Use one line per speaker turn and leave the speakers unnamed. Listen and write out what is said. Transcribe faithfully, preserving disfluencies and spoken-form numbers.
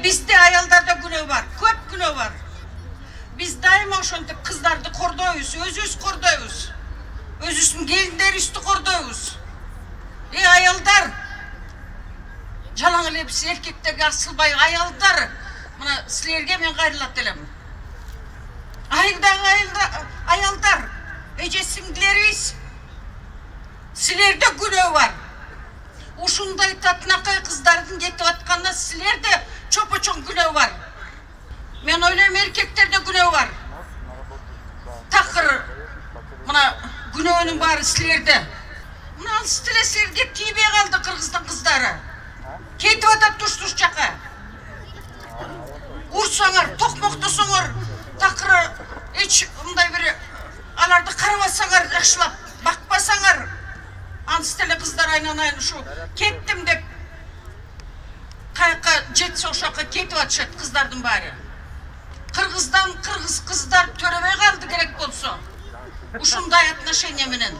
бизде аялдарда күнөө бар, көп күнөө бар. Биз дайыма ошентип кыздарды кордойбуз, өзүбүз кордойбуз. Өзүбүздүн келиндерибизди кордойбуз. Эй аялдар, жалаң эле биз эркектерге асылбай, аялдар, мына силерге мен кайрылат элем. Айылдагы аялдар, эже сиңдилерибиз, силерде күнөө бар. Ушундай татынакай кыздардын кетип атканына силерде чопо-чоң күнөө бар. Мен ойлойм, эркектерде күнөө бар. Такыр мына күнөөнүн баары силерде. Мына алыс тилесерге тийбей калды кыргыздын кыздары. Кетип атат туш-туш жака. Урсаңар, токмоктосоңор, такыр эч мындай бир аларды карабасаңар, жакшылап бакпасаңар, аныс теле кыздар айнанайын ушу кеттим деп каяка жетсе ошока кетип атышат кыздардын баары. Кыргыздан кыргыз кыздар төрөбөй калды керек болсо. Ушундай отношение менен.